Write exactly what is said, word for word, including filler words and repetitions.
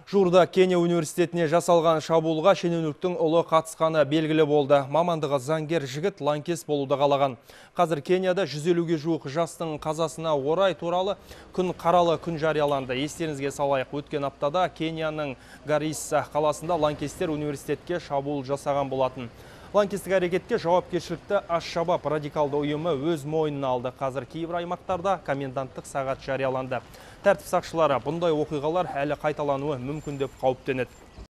Жуырда Кения университетіне жасалған шабуылға шенеуніктің ұлы қатысқаны белгілі болды. Мамандығы заңгер жігіт лаңкес болуды қалаған. Қазір Кенияда жүз елуге жуық жастың қазасына орай туралы күн қаралы күн жарияланды. Естеріңізге салайық, өткен аптада Кенияның Гарисса қаласында лаңкестер университетке шабуыл жасаған болатын. Лаңкестік әрекетке жауапкершілікті Аш-Шабаб радикалды ұйымы өз мойнына алды. Қазір кейбір аймақтарда коменданттық сағат жарияланды. Тәртіп сақшылары бұндай оқиғалар әлі қайталануы мүмкін деп қауіптенеді.